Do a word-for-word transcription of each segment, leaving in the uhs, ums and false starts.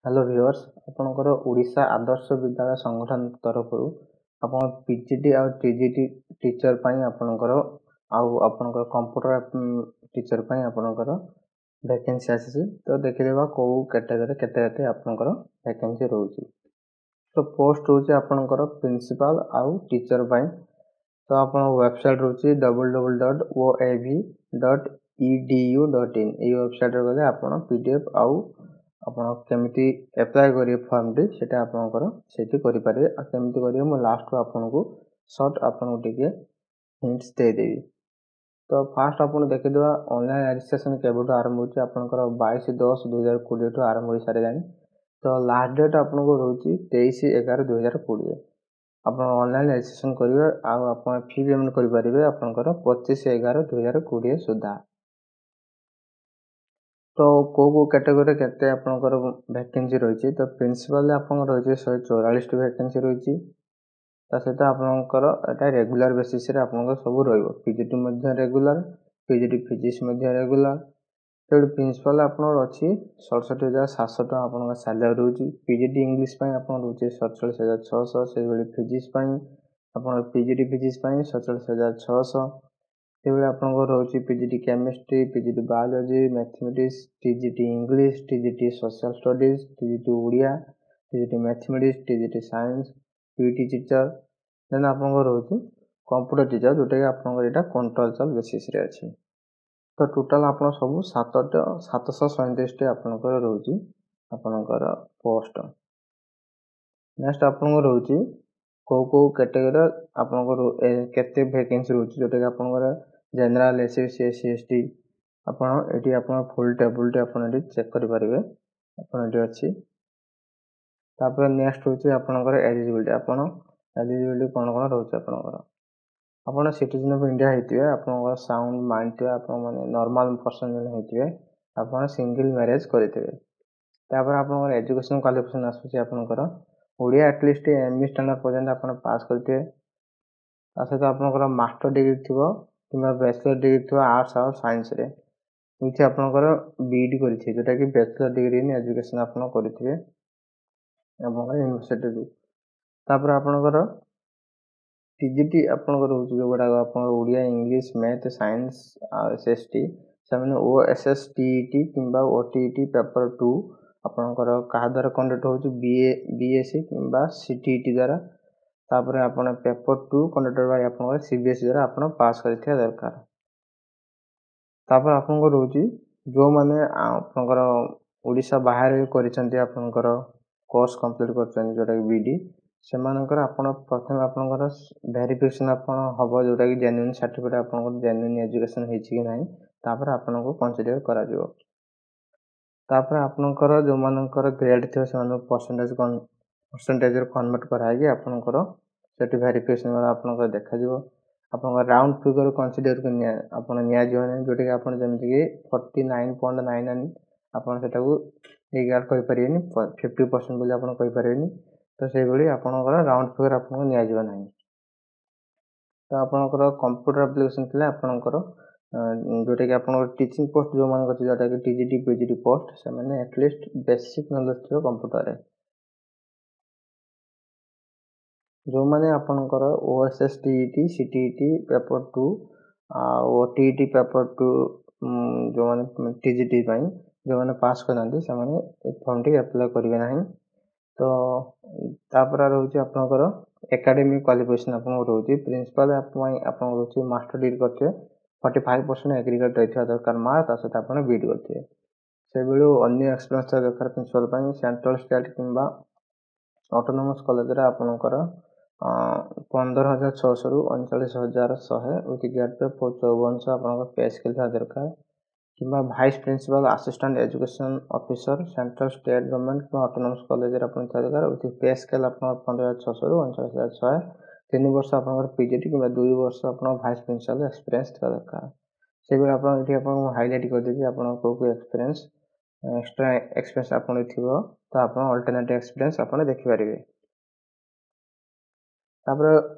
Hello viewers ଆପଣଙ୍କର ଓଡ଼ିଶା ଆଦର୍ଶ ବିଦ୍ୟାଳୟ ସଂଗଠନ ତରଫରୁ ଆପଣ ପି ଜି ଟି ଆଉ ଟି ଜି ଟି ଟିଚର୍ ପାଇଁ ଆପଣଙ୍କର ଆଉ ଆପଣଙ୍କର କମ୍ପ୍ୟୁଟର ଟିଚର୍ ପାଇଁ ଆପଣଙ୍କର ଭ୍ୟାକେନ୍ସି ଆସିଛି ତ ଦେଖିଦେବା କେଉଁ କ୍ୟାଟେଗୋରୀ କେତେ କେତେ ଆପଣଙ୍କର ଭ୍ୟାକେନ୍ସି ରହୁଛି ତ ପୋଷ୍ଟ ରହୁଛି ଆପଣଙ୍କର ପ୍ରିନ୍ସିପାଲ୍ ଆଉ ଟିଚର୍ ପାଇଁ ତ ଆପଣଙ୍କ ୱେବସାଇଟ୍ ରହୁଛି W W dot O A V dot E D U dot in ଏଇ ୱେବସାଇଟ୍ରେ ଗଲେ ଆପଣ ପି ଡି ଏଫ୍ ଆଉ ଆପଣ କେମିତି ଆପ୍ଲାଏ କରିବେ ଫର୍ମଟି ସେଇଟା ଆପଣଙ୍କର ସେଇଠି କରିପାରିବେ ଆଉ କେମିତି କରିବେ ମୁଁ ଲାଷ୍ଟକୁ ଆପଣଙ୍କୁ ସର୍ଟ ଆପଣଙ୍କୁ ଟିକେ ହିଣ୍ଟସ୍ ଦେଇଦେବି ତ ଫାଷ୍ଟ ଆପଣ ଦେଖିଦେବା ଅନଲାଇନ୍ ରେଜିଷ୍ଟ୍ରେସନ୍ କେବେଠୁ ଆରମ୍ଭ ହେଉଛି ଆପଣଙ୍କର ବାଇଶ ଦଶ ଦୁଇ ହଜାର କୋଡ଼ିଏଠୁ ଆରମ୍ଭ ହୋଇସାରିଲାଣି ତ ଲାଷ୍ଟ ଡେଟ୍ ଆପଣଙ୍କୁ ରହୁଛି ତେଇଶ ଏଗାର ଦୁଇ ହଜାର କୋଡ଼ିଏ ଆପଣ ଅନଲାଇନ୍ ରେଜିଷ୍ଟ୍ରେସନ୍ କରିବେ ଆଉ ଆପଣ ଫି ପେମେଣ୍ଟ କରିପାରିବେ ଆପଣଙ୍କର ପଚିଶ ଏଗାର ଦୁଇ ହଜାର କୋଡ଼ିଏ ସୁଦ୍ଧା ତ କେଉଁ କେଉଁ କ୍ୟାଟେଗୋରୀରେ କେତେ ଆପଣଙ୍କର ଭ୍ୟାକେନ୍ସି ରହିଛି ତ ପ୍ରିନ୍ସିପାଲରେ ଆପଣଙ୍କର ରହିଛି ଶହେ ଚଉରାଳିଶଟି ଭ୍ୟାକେନ୍ସି ରହିଛି ତା ସହିତ ଆପଣଙ୍କର ଏଇଟା ରେଗୁଲାର ବେସିସ୍ରେ ଆପଣଙ୍କର ସବୁ ରହିବ ପି ଜି ଟି ମଧ୍ୟ regular P G T physics ମଧ୍ୟ ରେଗୁଲାର ତେଣୁ ପ୍ରିନ୍ସିପାଲ ଆପଣଙ୍କର ଅଛି ସତଷଠି ହଜାର ସାତଶହ ଟଙ୍କା ଆପଣଙ୍କ ସାଲାରୀ ରହୁଛି ପି ଜି ଟି ଇଂଲିଶ ପାଇଁ ଆପଣ ରହୁଛି ସତଚାଳିଶ ହଜାର ଛଅଶହ ସେଇଭଳି ଫିଜିକ୍ସ ପାଇଁ ଆପଣ ପି ଜି ଟି ଫିଜିକ୍ସ ପାଇଁ ସତଚାଳିଶ ହଜାର ଛଅଶହ ସେଭଳି ଆପଣଙ୍କର ରହୁଛି P G T chemistry P G T biology mathematics T G T English T G T social studies T G T Odia T G T mathematics T G T science P T teacher ଦେନ୍ ଆପଣଙ୍କର ରହୁଛି computer teacher ଯେଉଁଟାକି ଆପଣଙ୍କର ଏଇଟା contractual ବେସିସ୍ରେ ଅଛି ତ total ଆପଣ ସବୁ ସାତଟା ସାତଶହ ସଇଁତିରିଶଟି ଆପଣଙ୍କର ରହୁଛି ଆପଣଙ୍କର ପୋଷ୍ଟ ନେକ୍ସଟ ଆପଣଙ୍କର ରହୁଛି କେଉଁ କେଉଁ କ୍ୟାଟେଗୋରୀର ଆପଣଙ୍କର କେତେ ଭ୍ୟାକେନ୍ସି ରହୁଛି ଯେଉଁଟାକି ଆପଣଙ୍କର general S C B C S C S T ଆପଣ ଏଠି ଆପଣ ଫୁଲ୍ ଟେବୁଲଟି ଆପଣ ଏଠି ଚେକ୍ କରିପାରିବେ ଆପଣ ଏଠି ଅଛି ତାପରେ ନେକ୍ସଟ ହେଉଛି ଆପଣଙ୍କର ଏଲିଜିବିଲିଟି ଆପଣ ଏଲିଜିବିଲିଟି କ'ଣ କ'ଣ ରହୁଛି ଆପଣଙ୍କର ଆପଣ ସିଟିଜେନ୍ ଅଫ୍ ଇଣ୍ଡିଆ ହେଇଥିବେ ଆପଣଙ୍କର ସାଉଣ୍ଡ ମାଇଣ୍ଡ ଥିବେ ଆପଣ ମାନେ ନର୍ମାଲ ପର୍ସନ୍ ଜଣେ ହେଇଥିବେ ଆପଣ ସିଙ୍ଗିଲ୍ ମ୍ୟାରେଜ୍ କରିଥିବେ ତାପରେ ଆପଣଙ୍କର ଏଜୁକେସନ୍ କ୍ୱାଲିଫିକେସନ୍ ଆସୁଛି ଆପଣଙ୍କର Odia at least M E standard ପର୍ଯ୍ୟନ୍ତ ଆପଣ ପାସ୍ କରିଥିବେ ତା ସହିତ ଆପଣଙ୍କର ମାଷ୍ଟର ଡିଗ୍ରୀ ଥିବ କିମ୍ବା ବ୍ୟାଚଲର ଡିଗ୍ରୀ ଥିବ ଆର୍ଟ୍ସ ଆଉ ସାଇନ୍ସରେ ଏଇଠି ଆପଣଙ୍କର ବି ଇ ଡ଼ି କରିଥିବେ ଯେଉଁଟାକି ବ୍ୟାଚଲର ଡିଗ୍ରୀ ଇନ୍ ଏଜୁକେସନ୍ ଆପଣ କରିଥିବେ ଆପଣଙ୍କର ୟୁନିଭର୍ସିଟିରୁ ତାପରେ ଆପଣଙ୍କର ଟି ଜି ଟି ଆପଣଙ୍କର ରହୁଛି ଯେଉଁଗୁଡ଼ାକ ଆପଣଙ୍କର ଓଡ଼ିଆ ଇଂଲିଶ ମ୍ୟାଥ୍ ସାଇନ୍ସ ଆଉ ଏସ୍ ଏସ୍ ଟି ସେମାନେ ଓ ଏସ୍ ଏସ୍ ଟି ଇ ଟି କିମ୍ବା ଓ ଟି ଇ ଟି ପେପର ଟୁ ଆପଣଙ୍କର କାହା ଦ୍ୱାରା କଣ୍ଡକ୍ଟ ହେଉଛି ବି ଏ ବି ଏସ୍ ସି କିମ୍ବା ସି ଟି ଇ ଟି ଦ୍ୱାରା ତାପରେ ଆପଣ ପେପର ଟୁ କଣ୍ଡକ୍ଟେଡ଼ ବାଇ ଆପଣଙ୍କର ସି ବି ଏସ୍ ସି ଦ୍ୱାରା ଆପଣ ପାସ୍ କରିଥିବା ଦରକାର ତାପରେ ଆପଣଙ୍କର ରହୁଛି ଯେଉଁମାନେ ଆପଣଙ୍କର ଓଡ଼ିଶା ବାହାରେ କରିଛନ୍ତି ଆପଣଙ୍କର କୋର୍ସ କମ୍ପ୍ଲିଟ୍ କରିଛନ୍ତି ଯେଉଁଟାକି ବି ଇ ଡ଼ି ସେମାନଙ୍କର ଆପଣ ପ୍ରଥମେ ଆପଣଙ୍କର ଭେରିଫିକେସନ୍ ଆପଣ ହେବ ଯେଉଁଟାକି ଜେନ୍ୟୁନ୍ ସାର୍ଟିଫିକେଟ୍ ଆପଣଙ୍କର ଜେନ୍ୟୁନ୍ ଏଜୁକେସନ୍ ହେଇଛି କି ନାହିଁ ତାପରେ ଆପଣଙ୍କୁ କନସିଡ଼ର କରାଯିବ ତାପରେ ଆପଣଙ୍କର ଯେଉଁମାନଙ୍କର ଗ୍ରେଡ଼୍ ଥିବ ସେମାନଙ୍କୁ ପରସେଣ୍ଟେଜ୍ ପରସେଣ୍ଟେଜରେ କନଭର୍ଟ କରାହେଇକି ଆପଣଙ୍କର ସେଠି ଭେରିଫିକେସନ୍ ଆପଣଙ୍କର ଦେଖାଯିବ ଆପଣଙ୍କ ରାଉଣ୍ଡ ଫିଗର କନସିଡ଼ରକୁ ନିଆ ଆପଣ ନିଆଯିବ ନାହିଁ ଯେଉଁଟାକି ଆପଣ ଯେମିତିକି forty nine point nine nine ଆପଣ ସେଟାକୁ ରିଗାର୍ଡ଼ କରିପାରିବେନି ଫିଫ୍ଟି ପରସେଣ୍ଟ ବୋଲି ଆପଣ କହିପାରିବେନି ତ ସେଇଭଳି ଆପଣଙ୍କର ରାଉଣ୍ଡ ଫିଗର ଆପଣଙ୍କୁ ନିଆଯିବ ନାହିଁ ତ ଆପଣଙ୍କର କମ୍ପ୍ୟୁଟର ଆପ୍ଲିକେସନ୍ ଥିଲେ ଆପଣଙ୍କର ଯେଉଁଟାକି ଆପଣଙ୍କର ଟିଚିଂ ପୋଷ୍ଟ ଯେଉଁମାନଙ୍କ ଅଛି ଯେଉଁଟାକି T G T P G T post ସେମାନେ ଆଟଲିଷ୍ଟ ବେସିକ୍ ନଲେଜ୍ ଥିବ କମ୍ପ୍ୟୁଟରରେ ଯେଉଁମାନେ ଆପଣଙ୍କର ଓ S S T E T C T ଇ ଟି ପେପର ଟୁ ଆଉ ଓ ଟି ଇ ଟି ପେପର ଟୁ ଯେଉଁମାନେ ଟି ଜି ଟି ପାଇଁ ଯେଉଁମାନେ ପାସ୍ କରିନାହାନ୍ତି ସେମାନେ ଏ ଫର୍ମଟି ଆପ୍ଲାଏ କରିବେ ନାହିଁ ତ ତାପରେ ରହୁଛି ଆପଣଙ୍କର ଏକାଡେମିକ୍ କ୍ୱାଲିଫିକେସନ୍ ଆପଣଙ୍କର ରହୁଛି ପ୍ରିନ୍ସିପାଲ୍ ପାଇଁ ଆପଣଙ୍କର ରହୁଛି ମାଷ୍ଟର ଡିଗ୍ରୀ କରିଥିବେ ଫର୍ଟି ଫାଇଭ୍ ପରସେଣ୍ଟ ଏଗ୍ରିଗେଟ୍ ରହିଥିବା ଦରକାର ମାର୍କ ତା ସହିତ ଆପଣ ବି ଇ ଡ଼ି କରିଥିବେ ସେଇଭଳି ଅନ୍ୟ ଏକ୍ସପିରିଏନ୍ସ ଥିବା ଦରକାର ପ୍ରିନ୍ସିପାଲ୍ ପାଇଁ ସେଣ୍ଟ୍ରାଲ୍ ଷ୍ଟେଟ୍ କିମ୍ବା ଅଟୋନମସ୍ କଲେଜରେ ଆପଣଙ୍କର ପନ୍ଦର ହଜାର ଛଅଶହରୁ ଅଣଚାଳିଶ ହଜାର ଶହେ ୱିଥ୍ ଗ୍ରେଡ୍ ପେ ଚଉବନଶହ ଆପଣଙ୍କ ପେ ସ୍କେଲ୍ ଥିବା ଦରକାର କିମ୍ବା vice principal assistant education officer central state government କିମ୍ବା ଅଟୋନମସ୍ କଲେଜରେ ଆପଣ ଥିବା ଦରକାର ୱିଥ୍ ପେ ସ୍କେଲ୍ ଆପଣଙ୍କର ପନ୍ଦର ହଜାର ଛଅଶହରୁ ଅଣଚାଳିଶ ହଜାର ଶହେ ତିନି ବର୍ଷ ଆପଣଙ୍କର ପି ଜି ଟି କିମ୍ବା ଦୁଇ ବର୍ଷ ଆପଣଙ୍କ ଭାଇସ୍ ପ୍ରିନ୍ସିପାଲ୍ ଏକ୍ସପିରିଏନ୍ସ ଥିବା ଦରକାର ସେଇଭଳି ଆପଣ ଏଠି ଆପଣଙ୍କୁ ହାଇଲାଇଟ୍ କରିଦେଇଛି ଆପଣ କେଉଁ କେଉଁ ଏକ୍ସପିରିଏନ୍ସ ଏକ୍ସଟ୍ରା ଏକ୍ସପିରିଏନ୍ସ ଆପଣ ଥିବ ତ ଆପଣ ଅଲ୍ଟରନେଟିଭ୍ ଏକ୍ସପିରିଏନ୍ସ ଆପଣ ଦେଖିପାରିବେ ତାପରେ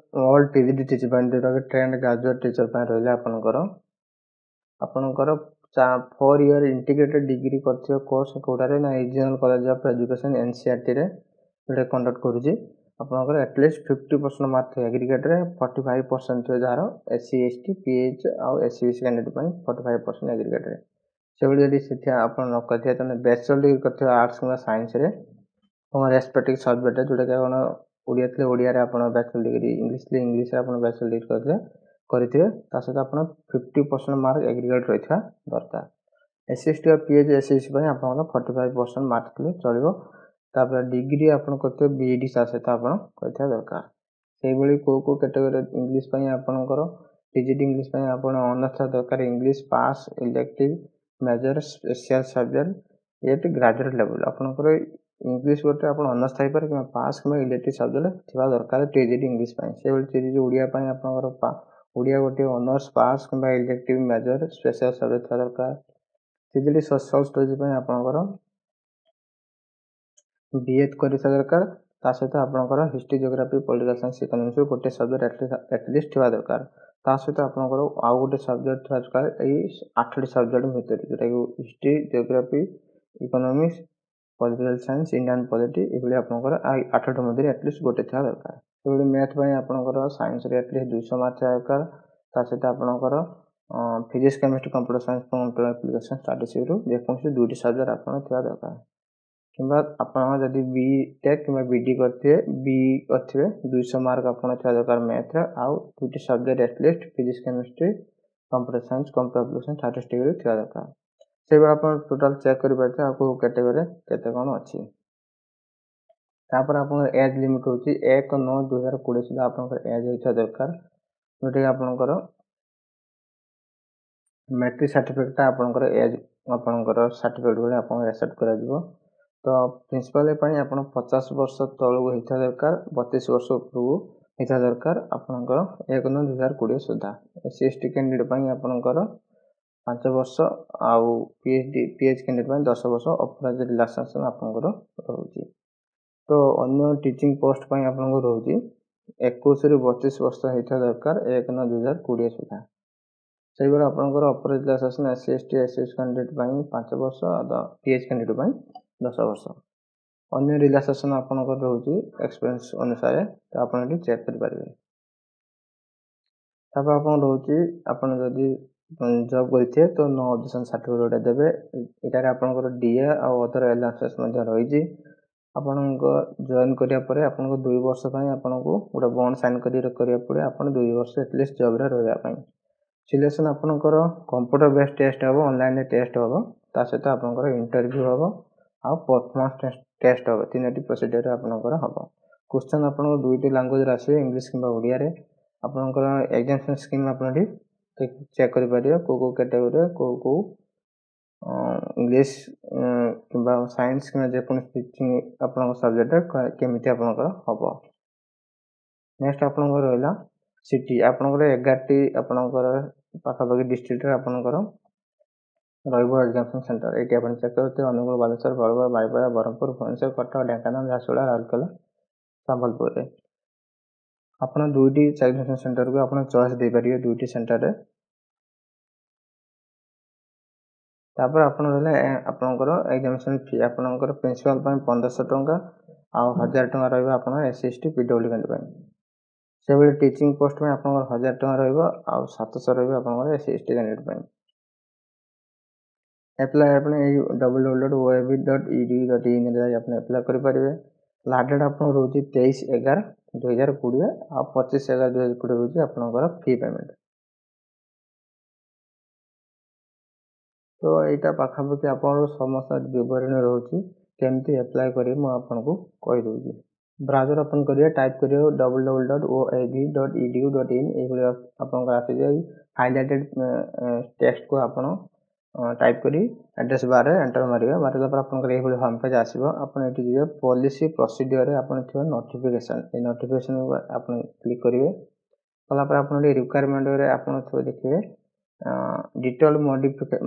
all T G T teacher ପାଇଁ ଯେଉଁଟାକି ଟ୍ରେଣ୍ଡ ଗ୍ରାଜୁଏଟ୍ ଟିଚର୍ ପାଇଁ ରହିଲେ ଆପଣଙ୍କର ଆପଣଙ୍କର ଫୋର୍ ଇୟର୍ ଇଣ୍ଟିଗ୍ରେଟେଡ୍ ଡିଗ୍ରୀ କରିଥିବେ କୋର୍ସ କେଉଁଟାରେ ନା ରିଜିଓନାଲ୍ କଲେଜ ଅଫ୍ ଏଜୁକେସନ୍ ଏନ୍ସିଆର୍ଟିରେ ଯେଉଁଟା କଣ୍ଡକ୍ଟ କରୁଛି ଆପଣଙ୍କର at least fifty percent mark ଥିବ ଆଗ୍ରିଗେଟ୍ରେ ଫର୍ଟି ଫାଇଭ୍ ପରସେଣ୍ଟ ଥିବ ଯାହାର S C S T P H ଆଉ S E B C candidate ପାଇଁ ଫର୍ଟି ଫାଇଭ୍ ପରସେଣ୍ଟ ଆଗ୍ରିଗେଟ୍ରେ ସେଭଳି ଯଦି ସେଠି ଆପଣ ନ କରିଥିବେ ତାହେଲେ ବ୍ୟାଚଲର ଡିଗ୍ରୀ କରିଥିବେ ଆର୍ଟ୍ସ କିମ୍ବା ସାଇନ୍ସରେ ତୁମ ରେସ୍ପେକ୍ଟିଭ୍ ସବଜେକ୍ଟ ଯେଉଁଟାକି ଆପଣ ଓଡ଼ିଆ ଥିଲେ ଓଡ଼ିଆରେ ଆପଣ ବ୍ୟାଚଲର ଡିଗ୍ରୀ ଇଂଲିଶ ଥିଲେ ଇଂଲିଶରେ ଆପଣ ବ୍ୟାଚଲର ଡିଗ୍ରୀ କରିଥିଲେ କରିଥିବେ ତା ସହିତ ଆପଣ ଫିଫ୍ଟି ପରସେଣ୍ଟ ମାର୍କ ଏଗ୍ରିଗେଟ୍ ରହିଥିବା ଦରକାର ଏସ୍ ସି ଏସ୍ ଟି ଆଉ ପି ଏଚ୍ ଏସ୍ ସି ପାଇଁ ଆପଣଙ୍କର ଫର୍ଟି ଫାଇଭ୍ ପରସେଣ୍ଟ ମାର୍କ ଥିଲେ ଚଳିବ ତାପରେ ଡିଗ୍ରୀ ଆପଣ କରିଥିବେ ବି ଇ ଡ଼ି ତା ସହିତ ଆପଣ କରିଥିବା ଦରକାର ସେଇଭଳି କେଉଁ କେଉଁ କ୍ୟାଟେଗୋରୀ ଇଂଲିଶ ପାଇଁ ଆପଣଙ୍କର ଟି ଜି ଟି ଇଂଲିଶ ପାଇଁ ଆପଣ ଅନର୍ସ ଥିବା ଦରକାର English pass elective major special subject at graduate level ଆପଣଙ୍କର ଇଂଲିଶ ଗୋଟେ ଆପଣ ଅନର୍ସ ଥାଇପାରେ କିମ୍ବା ପାସ୍ କିମ୍ବା ଇଲେକ୍ଟିଭ୍ ସବଜେକ୍ଟ ଥିବା ଦରକାର ଟି ଜି ଟି ଇଂଲିଶ ପାଇଁ ସେଇଭଳି ଟି ଜି ଟି ଓଡ଼ିଆ ପାଇଁ ଆପଣଙ୍କର ଓଡ଼ିଆ ଗୋଟିଏ ଅନର୍ସ ପାସ୍ କିମ୍ବା ଇଲେକ୍ଟିଭ୍ ମେଜର ସ୍ପେଶିଆଲ ସବଜେକ୍ଟ ଥିବା ଦରକାର T G T social studies ପାଇଁ ଆପଣଙ୍କର ବି ଏଡ୍ କରିଥିବା ଦରକାର ତା ସହିତ ଆପଣଙ୍କର ହିଷ୍ଟ୍ରି ଜିଓଗ୍ରାଫି ପଲିଟିକାଲ ସାଇନ୍ସ ଇକୋନୋମିକ୍ସରୁ ଗୋଟେ ସବଜେକ୍ଟ ଆଟଲିଷ୍ଟ ଥିବା ଦରକାର ତା ସହିତ ଆପଣଙ୍କର ଆଉ ଗୋଟେ ସବଜେକ୍ଟ ଥିବା ଦରକାର ଏଇ ଆଠଟି ସବଜେକ୍ଟ ଭିତରେ ଯେଉଁଟାକି history geography economics political science Indian polity ଏଭଳି ଆପଣଙ୍କର ଆଠଟି ମଧ୍ୟରେ ଆଟଲିଷ୍ଟ ଗୋଟେ ଥିବା ଦରକାର ସେଭଳି ମ୍ୟାଥ୍ ପାଇଁ ଆପଣଙ୍କର ସାଇନ୍ସରେ ଆଟଲିଷ୍ଟ ଦୁଇଶହ ମାର୍କ ଥିବା ଦରକାର ତା ସହିତ ଆପଣଙ୍କର physics chemistry computer science computer application ଷ୍ଟାଟିଷ୍ଟିକ୍ସରୁ ଯେକୌଣସି ଦୁଇଟି ସବଜେକ୍ଟ ଆପଣ ଥିବା ଦରକାର କିମ୍ବା ଆପଣ ଯଦି ବି ଟେକ୍ କିମ୍ବା ବି ଡି କରିଥିବେ ବି କରିଥିବେ ଦୁଇଶହ ମାର୍କ ଆପଣ ଥିବା ଦରକାର ମ୍ୟାଥ୍ରେ ଆଉ ଦୁଇଟି subject at least physics chemistry computer science computer application ଷ୍ଟାଟିଷ୍ଟିକ୍ସରେ ଥିବା ଦରକାର ସେଇଭଳି ଆପଣ ଟୋଟାଲ୍ ଚେକ୍ କରିପାରିବେ ଆଉ କେଉଁ କ୍ୟାଟେଗୋରୀରେ କେତେ କ'ଣ ଅଛି ତାପରେ ଆପଣଙ୍କର ଏଜ୍ ଲିମିଟ୍ ହେଉଛି ଏକ ନଅ ଦୁଇ ହଜାର କୋଡ଼ିଏ ସୁଦ୍ଧା ଆପଣଙ୍କର ଏଜ୍ ହେଇଥିବା ଦରକାର ଯେଉଁଟାକି ଆପଣଙ୍କର ମେଟ୍ରିକ୍ ସାର୍ଟିଫିକେଟ୍ଟା ଆପଣଙ୍କର ଏଜ୍ ଆପଣଙ୍କର ସାର୍ଟିଫିକେଟ୍ ଭଳି ଆପଣଙ୍କର ଆକ୍ସେପ୍ଟ କରାଯିବ ତ ପ୍ରିନ୍ସିପାଲ୍ ପାଇଁ ଆପଣ ପଚାଶ ବର୍ଷ ତଳକୁ ହେଇଥିବା ଦରକାର ବତିଶ ବର୍ଷ ଉପରକୁ ହେଇଥିବା ଦରକାର ଆପଣଙ୍କର ଏକ ନଅ ଦୁଇ ହଜାର କୋଡ଼ିଏ ସୁଦ୍ଧା S C S T candidate ପାଇଁ ଆପଣଙ୍କର ପାଞ୍ଚ ବର୍ଷ ଆଉ P H D P H candidate ପାଇଁ ଦଶ ବର୍ଷ ଅପର ଏଜ୍ ରିଲାକ୍ସେସନ୍ ଆପଣଙ୍କର ରହୁଛି ତ ଅନ୍ୟ ଟିଚିଂ ପୋଷ୍ଟ ପାଇଁ ଆପଣଙ୍କର ରହୁଛି ଏକୋଇଶରୁ ବତିଶ ବର୍ଷ ହେଇଥିବା ଦରକାର ଏକ ନଅ ଦୁଇ ହଜାର କୋଡ଼ିଏ ସୁଦ୍ଧା ସେହିଭଳି ଆପଣଙ୍କର ଅପର relaxation S C S T S S candidate ପାଇଁ ପାଞ୍ଚ ବର୍ଷ ପି ଏଚ୍ କ୍ୟାଣ୍ଡିଡେଟ୍ ପାଇଁ ଦଶ ବର୍ଷ ଅନ୍ୟ ରିଲାକ୍ସେସନ୍ ଆପଣଙ୍କର ରହୁଛି ଏକ୍ସପିରିଏନ୍ସ ଅନୁସାରେ ତ ଆପଣ ଏଠି ଚେକ୍ କରିପାରିବେ ତାପରେ ଆପଣ ରହୁଛି ଆପଣ ଯଦି ଜବ୍ କରିଥିବେ ତ ନୋ ଅବଜେକ୍ସନ୍ ସାର୍ଟିଫିକେଟ୍ ଗୋଟେ ଦେବେ ଏଟାରେ ଆପଣଙ୍କର ଡିଏ ଆଉ ଅଦର ଆଲାଉନ୍ସେସ୍ ମଧ୍ୟ ରହିଛି ଆପଣଙ୍କ ଜଏନ୍ କରିବା ପରେ ଆପଣଙ୍କ ଦୁଇ ବର୍ଷ ପାଇଁ ଆପଣଙ୍କୁ ଗୋଟେ ବଣ୍ଡ ସାଇନ୍ କରି କରିବାକୁ ପଡ଼ିବ ଆପଣ ଦୁଇ ବର୍ଷ ଆଟଲିଷ୍ଟ ଜବ୍ରେ ରହିବା ପାଇଁ ସିଲେକ୍ସନ୍ ଆପଣଙ୍କର କମ୍ପ୍ୟୁଟର ବେସ୍ ଟେଷ୍ଟ ହେବ ଅନଲାଇନରେ ଟେଷ୍ଟ ହେବ ତା ସହିତ ଆପଣଙ୍କର ଇଣ୍ଟରଭ୍ୟୁ ହେବ ଆଉ ପରଫର୍ମାନ୍ସ ଟେଷ୍ଟ ହେବ ତିନୋଟି ପ୍ରୋସିଡ଼ିଓର ଆପଣଙ୍କର ହେବ କ୍ୱେଶ୍ଚନ୍ ଆପଣଙ୍କ ଦୁଇଟି ଲାଙ୍ଗୁଏଜରେ ଆସିବ ଇଂଲିଶ କିମ୍ବା ଓଡ଼ିଆରେ ଆପଣଙ୍କର ଏକ୍ଜାମିନେସନ୍ ସ୍କିମ୍ ଆପଣ ଏଠି ଚେକ୍ କରିପାରିବେ କେଉଁ କେଉଁ କ୍ୟାଟେଗୋରୀରେ କେଉଁ କେଉଁ ଇଂଲିଶ କିମ୍ବା ସାଇନ୍ସ କିମ୍ବା ଯେକୌଣସି ଟିଚିଂ ଆପଣଙ୍କ ସବଜେକ୍ଟରେ କେମିତି ଆପଣଙ୍କର ହେବ ନେକ୍ସଟ ଆପଣଙ୍କର ରହିଲା ସିଟି ଆପଣଙ୍କର ଏଗାରଟି ଆପଣଙ୍କର ପାଖାପାଖି ଡିଷ୍ଟ୍ରିକ୍ଟରେ ଆପଣଙ୍କର ରହିବ ଏକ୍ଜାମିନେସନ୍ ସେଣ୍ଟର ଏଇଠି ଆପଣ ଚେକ୍ କରୁଥିବେ ଅନୁଗୁଳ ବାଲେଶ୍ୱର ବରଗଡ଼ ବାରିପଦା ବ୍ରହ୍ମପୁର ଭୁବନେଶ୍ୱର କଟକ ଢେଙ୍କାନାଳ ଝାରସୁଗୁଡ଼ା ରାଉରକେଲା ସମ୍ବଲପୁରରେ ଆପଣ ଦୁଇଟି ଏକ୍ଜାମିନେସନ୍ ସେଣ୍ଟରକୁ ଆପଣ ଚଏସ୍ ଦେଇପାରିବେ ଦୁଇଟି ସେଣ୍ଟରରେ ତାପରେ ଆପଣ ରହିଲା ଆପଣଙ୍କର ଏକ୍ଜାମିନେସନ୍ ଫି ଆପଣଙ୍କର ପ୍ରିନ୍ସିପାଲ୍ ପାଇଁ ପନ୍ଦରଶହ ଟଙ୍କା ଆଉ ହଜାର ଟଙ୍କା ରହିବ ଆପଣ S C S T P W candidate ପାଇଁ ସେଭଳି ଟିଚିଂ ପୋଷ୍ଟ ପାଇଁ ଆପଣଙ୍କର ହଜାର ଟଙ୍କା ରହିବ ଆଉ ସାତଶହ ରହିବ ଆପଣଙ୍କର S C S T candidate ପାଇଁ ଆପ୍ଲାଏ ଆପଣ ଏଇ W W dot O A V dot E D dot ଇନ୍ରେ ଯାଇ ଆପଣ ଆପ୍ଲାଏ କରିପାରିବେ ଲାଷ୍ଟ ଡେଟ୍ ଆପଣଙ୍କର ରହୁଛି ତେଇଶ ଏଗାର ଦୁଇ ହଜାର କୋଡ଼ିଏ ଆଉ ପଚିଶ ଏଗାର ଦୁଇ ହଜାର କୋଡ଼ିଏ ରହୁଛି ଆପଣଙ୍କର ଫି ପେମେଣ୍ଟ ତ ଏଇଟା ପାଖାପାଖି ଆପଣଙ୍କର ସମସ୍ତ ବିବରଣୀ ରହୁଛି କେମିତି ଆପ୍ଲାଏ କରିବେ ମୁଁ ଆପଣଙ୍କୁ କହିଦେଉଛି ବ୍ରାଉଜର ଓପନ୍ କରିବେ ଟାଇପ୍ କରିବେ W W dot O A V dot E D U dot in ଏଇଭଳି ଆପଣଙ୍କର ଆସିଯିବ ଏଇ ହାଇଲାଇଟେଡ୍ ଟେକ୍ସଟକୁ ଆପଣ ଟାଇପ୍ କରି ଆଡ୍ରେସ୍ ବାର୍ରେ ଏଣ୍ଟର ମାରିବେ ମାରିଲା ପରେ ଆପଣଙ୍କର ଏଇଭଳି ହୋମ୍ ପେଜ୍ ଆସିବ ଆପଣ ଏଠି ଯିବେ ପଲିସି ପ୍ରୋସିଡ଼ିଓରରେ ଆପଣ ଥିବ ନୋଟିଫିକେସନ୍ ଏଇ ନୋଟିଫିକେସନ୍ ଆପଣ କ୍ଲିକ୍ କରିବେ କଲା ପରେ ଆପଣ ଏଠି ରିକ୍ୱାରମେଣ୍ଟରେ ଆପଣ ଥିବ ଦେଖିବେ detail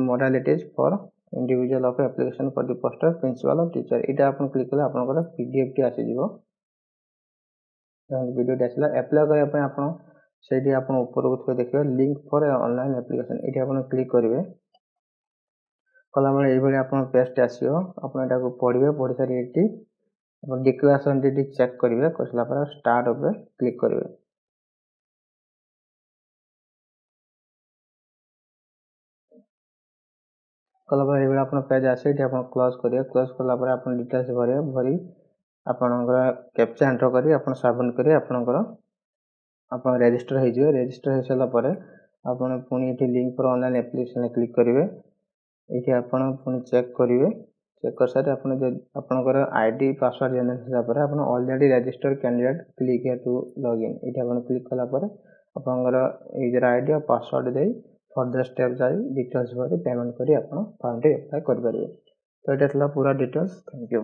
modalities for individual of application for the post of principal teacher ଏଇଟା ଆପଣ କ୍ଲିକ୍ କଲେ ଆପଣଙ୍କର ପି ଡି ଏଫ୍ ଟି ଆସିଯିବ ଦେଖନ୍ତୁ ଭିଡ଼ିଓଟି ଆସିଲା ଆପ୍ଲାଏ କରିବା ପାଇଁ ଆପଣ ସେଇଠି ଆପଣ ଉପରକୁ ଥିବ ଦେଖିବେ ଲିଙ୍କ୍ ଫର୍ ଅନଲାଇନ୍ ଆପ୍ଲିକେସନ୍ ଏଇଠି ଆପଣ କ୍ଲିକ୍ କରିବେ କଲାବେଳେ ଏଇଭଳି ଆପଣ ପେଜ୍ଟି ଆସିବ। ଆପଣ ଏଟାକୁ ପଢ଼ିବେ। ପଢ଼ି ସାରି ଏଠି ଆପଣ ଡିକ୍ଲାରେସନ୍ଟି ଏଠି ଚେକ୍ କରିବେ। କରିସାରିଲା ପରେ ଷ୍ଟାର୍ଟ ଉପରେ କ୍ଲିକ୍ କରିବେ। କଲା ପରେ ଏଇଭଳି ଆପଣ ପେଜ୍ ଆସିବ। ଏଠି ଆପଣ କ୍ଲୋଜ୍ କରିବେ। କ୍ଲୋଜ୍ କଲା ପରେ ଆପଣ ଡିଟେଲ୍ସ ଭରିବେ। ଭରି ଆପଣଙ୍କର କ୍ୟାପଚା ଏଣ୍ଟର କରି ଆପଣ ସବମିଟ୍ କରି ଆପଣଙ୍କର ଆପଣ ରେଜିଷ୍ଟର ହେଇଯିବେ। ରେଜିଷ୍ଟର ହେଇସାରିଲା ପରେ ଆପଣ ପୁଣି ଏଠି ଲିଙ୍କ୍ ଫର୍ ଅନଲାଇନ୍ ଆପ୍ଲିକେସନ୍ରେ କ୍ଲିକ୍ କରିବେ। ଏଇଠି ଆପଣ ପୁଣି ଚେକ୍ କରିବେ। ଚେକ୍ କରିସାରି ଆପଣ ଯଦି ଆପଣଙ୍କର I D password generate ହେଲା ପରେ ଆପଣ already register candidate click here to login, ଏଇଠି ଆପଣ କ୍ଲିକ୍ କଲା ପରେ ଆପଣଙ୍କର ୟୁଜର୍ I D ଆଉ ପାସୱାର୍ଡ଼ ଦେଇ ଫର୍ଦର ଷ୍ଟେପ୍ ଯାଇ ଡିଟେଲ୍ସ ଭରି ପେମେଣ୍ଟ କରି ଆପଣ ଫର୍ମଟି ଆପ୍ଲାଏ କରିପାରିବେ। ତ ଏଇଟା ଥିଲା ପୁରା ଡିଟେଲ୍ସ। Thank you.